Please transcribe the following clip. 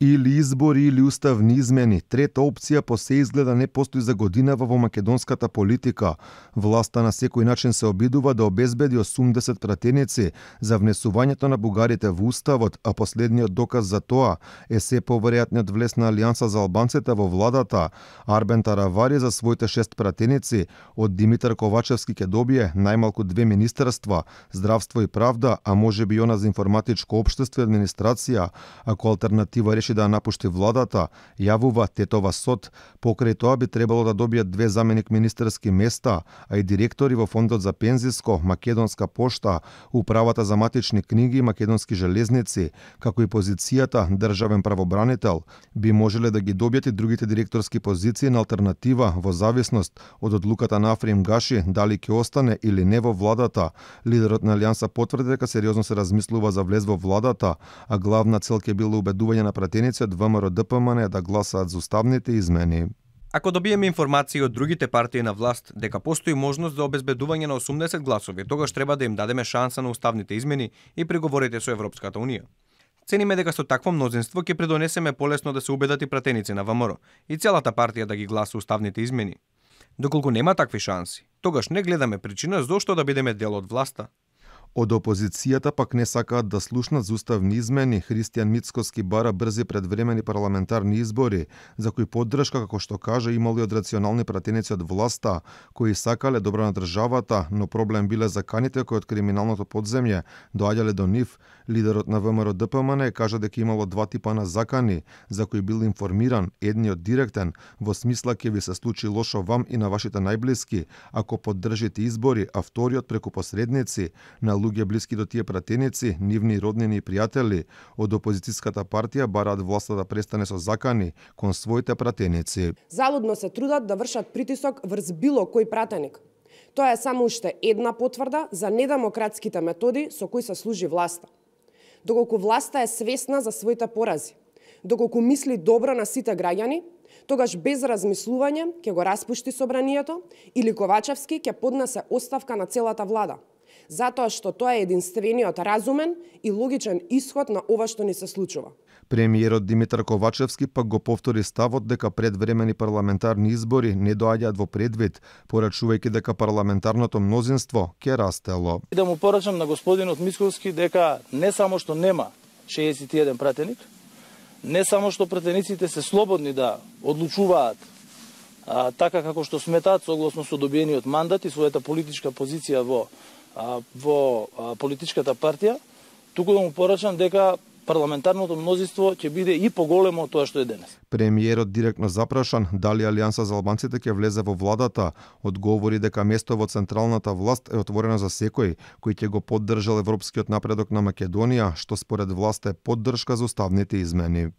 Или избори или уставни измени. Трета опција по се изгледа не постои за годинава во македонската политика. Власта на секој начин се обидува да обезбеди 80 пратеници за внесувањето на бугарите во уставот, а последниот доказ за тоа е се поверојатниот влез на Алијанса за албанците во владата. Арбен Таравари за своите 6 пратеници од Димитар Ковачевски ќе добие најмалку 2 министерства, здравство и правда, а можеби и она за информатичко општество и администрација, ако алтернатива реши да напушти владата, јавува Тетова Сот. Покрај тоа би требало да добијат 2 заменик министерски места, а и директори во Фондот за пензиско, Македонска пошта, Управата за матични книги и Македонски железници, како и позицијата државен правобранител, би можеле да ги добијат и другите директорски позиции на алтернатива во зависност од одлуката на Африм Гаши дали ќе остане или не во владата. Лидерот на Алијанса потврди дека сериозно се размислува за влез во владата, а главна цел ќе било убедување на пратеници од ВМРО ДПМН да гласаат за уставните измени. Ако добиеме информации од другите партии на власт дека постои можност за обезбедување на 80 гласови, тогаш треба да им дадеме шанса на уставните измени и преговорите со Европската унија. Цениме дека со такво мнозинство ќе придонесеме полесно да се убедат и пратеници на ВМРО и целата партија да ги гласа уставните измени. Доколку нема такви шанси, тогаш не гледаме причина зошто да бидеме дел од власта. Од опозицијата пак не сакаат да слушнат за уставни измени. Христијан Мицкоски бара брзи предвремени парламентарни избори, за кои поддршка, како што кажа, имало и од рационални пратеници од власта, кои сакале добро на државата, но проблем биле заканите кои од криминалното подземје доаѓале до нив. Лидерот на ВМРО ДПМН кажа дека имало 2 типа на закани, за кои бил информиран, едниот директен, во смисла ќе ви се случи лошо вам и на вашите најблиски, ако поддржите избори, а вториот преку посредници, на луѓе блиски до тие пратеници, нивни роднини и пријатели. Од опозицијската партија бараат власта да престане со закани кон своите пратеници. Залудно се трудат да вршат притисок врз било кој пратеник. Тоа е само уште една потврда за недемократските методи со кои се служи власта. Доколку власта е свесна за своите порази, доколку мисли добро на сите граѓани, тогаш без размислување ќе го распушти собранието или Ковачевски ќе поднесе оставка на целата влада. Затоа што тоа е единствениот разумен и логичен исход на ова што ни се случува. Премиерот Димитар Ковачевски пак го повтори ставот дека предвремени парламентарни избори не доаѓаат во предвид, порачувајќи дека парламентарното мнозинство ќе растело. Да му порачам на господинот Мицкоски дека не само што нема 61 пратеник, не само што пратениците се слободни да одлучуваат така како што сметаат согласно со добиениот мандат и својата политичка позиција во политичката партија, туку да му порачам дека парламентарното мнозинство ќе биде и поголемо од тоа што е денес. Премиерот директно запрашан дали Алијанса за албанците ќе влезе во владата, одговори дека место во централната власт е отворено за секој кој ќе го поддржал европскиот напредок на Македонија, што според власта е поддршка за уставните измени.